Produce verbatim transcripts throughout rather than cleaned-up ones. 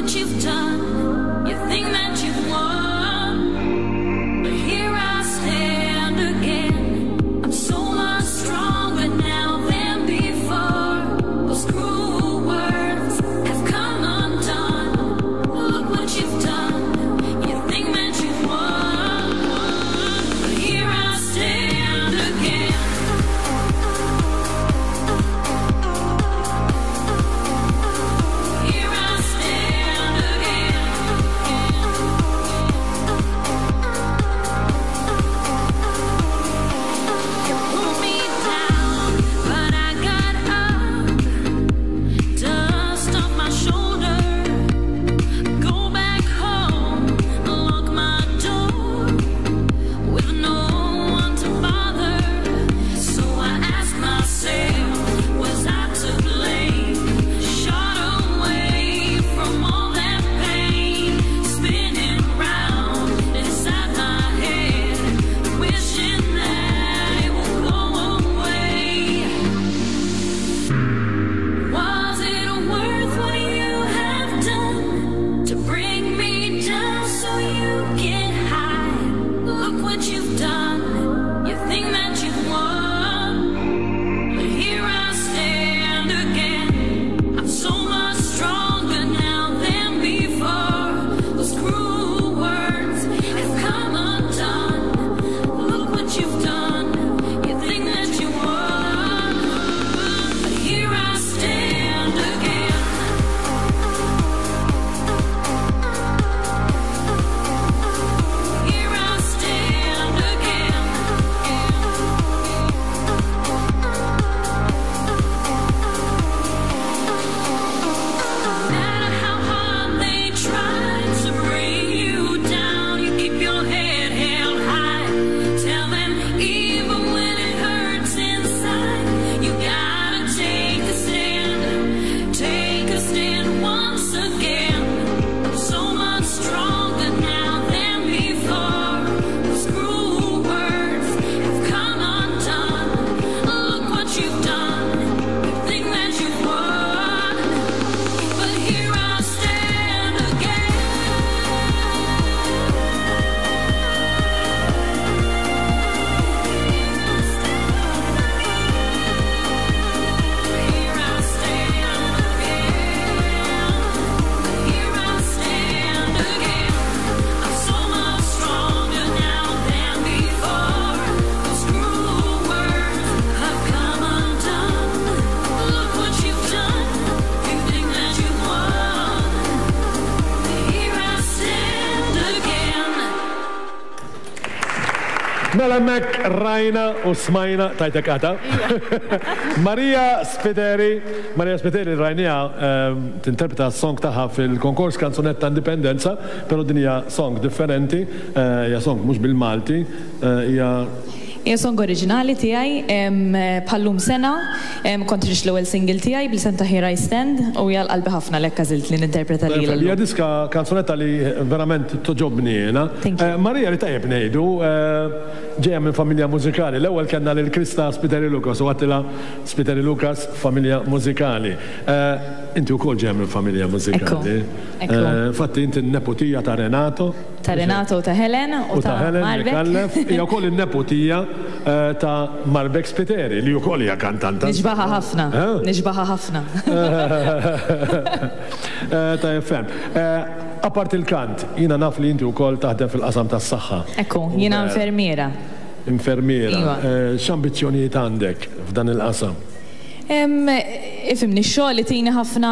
what you've done. You think that you've won, but here I stand again. I'm so much stronger now than before. Those cruel words have come undone. Look what you've done. You think that you've won, but here I stand again. Here I stand again. You pulled me down, but I got up. Dust off my shoulder. Go back home, lock my door with no one to bother. So I ask myself, was I to blame? Shot away from all that pain, spinning round inside my head, wishing that it would go away. Was it worth what you have done to bring me down so you get high? Look what you've done. You think that you've won, but here I stand again. I'm so much stronger now than before. Those cruel words have come undone. Look what you've done. You think that you won, but here I stand again. Here I stand again. No matter how hard they try to bring you down, you keep your head held high. Tell them even when it hurts inside, you gotta take a stand, take a stand once again. I'm so much stronger now than before. Those cruel words have come undone. Look what you've done. You think that you've won, but here I stand again. Here I stand again. Here I stand again. I'm so much stronger now than before. Those cruel words have come undone. Look what you've done. You think that you won. Here I stand again. Mela mek rajna u smajna tajtek għata. Maria Spiteri, Maria Spiteri rajnija ehm, tinterpreta song tagħha fil-konkors kanzunetta Indipendenza, pero din hija song differenti, eh, hija song mhux bil-Malti, eh, hija Hija song oriġinali tiegħi em, bħallum sena em, kont ħriġt l-ewwel single tiegħi bl-isem ta' Here I Stand u hija qalbi ħafna lekk għażilt li ninterpreta lilha Hija llum. diska kanzunetta li verament togħġobni jiena. Thank you. Eh, Maria li tajjeb ngħidu, eh, ġejja minn familja mużikali. L-ewwel kellna lil Krista Spiteri Lucas u għattila Spiteri Lucas familja mużikali. Eh, Inti wkoll ġejja minn familja mużikali. Ekku, ekku. Eh, Infatti inti n-neputija ta' Renato. Ta' Renato u ta' Helen u U ta' ta' Helen Marbek. Micallef, hija wkoll in-neputija eh, ta' Marbek Spiteri li wkoll hija kantanta. Nixbaha ħafna, Eh? nixbaha ħafna. Eh, Ta' ferm. Eh, Apart il-kant, jina naf li inti wkoll taħdem fil-qasam tas-saħħa. Ekku, jiena infermiera. Infermiera. Iva. Eh, X'ambizzjonijiet għandek f'dan il-qasam? Em, Ifhimni, xogħol li tini ħafna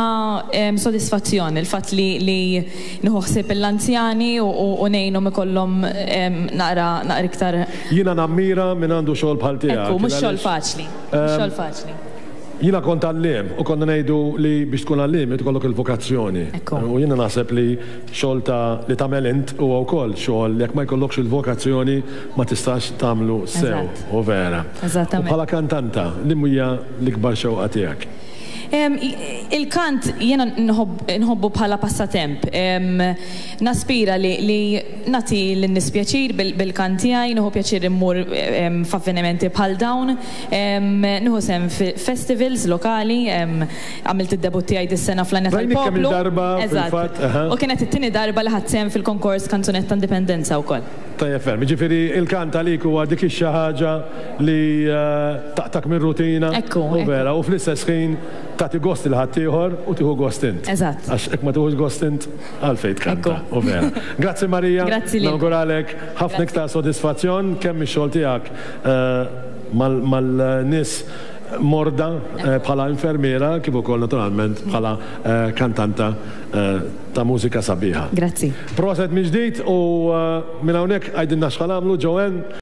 em, sodisfazzjon, il-fatt li, li nieħu ħsieb l-anzjani u, u, u ngħinhom ikollhom em, naqra naqra iktar. Jina nammira minn għandu xogħol bħal tiegħek. Ekku, mhux xogħol Għaliex faċli. Mhux xogħol faċli. Jina kont għalliem u konna ngħidu li biex tkun għalliem ikollok il-vokazzjoni. Ekku. U jiena naħseb li xogħol ta' li tagħmel int huwa wkoll xogħol li jekk ma jkollokx il-vokazzjoni ma tistax tagħmlu sew Eżatt. u vera. Eżattament. U bħala kantanta, li hija l-ikbar xewqa tiegħek? Em, i- Il-kant jiena nħobb- nħobbu bħala passatemp. Em, Naspira li, li nagħti lin-nies pjaċir bil- bil-kant tiegħi, nieħu pjaċir immur em, f'avvenimenti bħal dawn, Em, nieħu sehem fi festivals lokali, em, għamilt id-debut tiegħi dis-sena fl-Għanja Rajnik kemm tal-Poplu. il-darba Eżatt. fil-fatt, aha. U kienet it-tieni darba li ħadt sehem fil-konkors Kanzunetta Indipendenza wkoll. Tajjeb ferm. Ġifieri il-kant għalik huwa dik ix ħaġa li eh, taqtak minn rutina. Ekku, U ekku. vera, u fl-istess ħin tagħti gost lil ħaddieħor u tieħu gost int. Eżatt. Għax hekk ma tieħux gost int, għalfejn tkanta. Ekku. U vera. Grazzi Marija. Grazzi lilkom. Nawguralek ħafna iktar sodisfazzjon kemm ix-xogħol tiegħek eh, mal- mal-nies morda eh, bħala infermiera kif ukoll naturalment bħala eh, kantanta eh, ta' mużika sabiħa. Grazzi. Proset minn ġdid u eh, minn hawnhekk għajdilna x'ħa nagħmlu Joanne.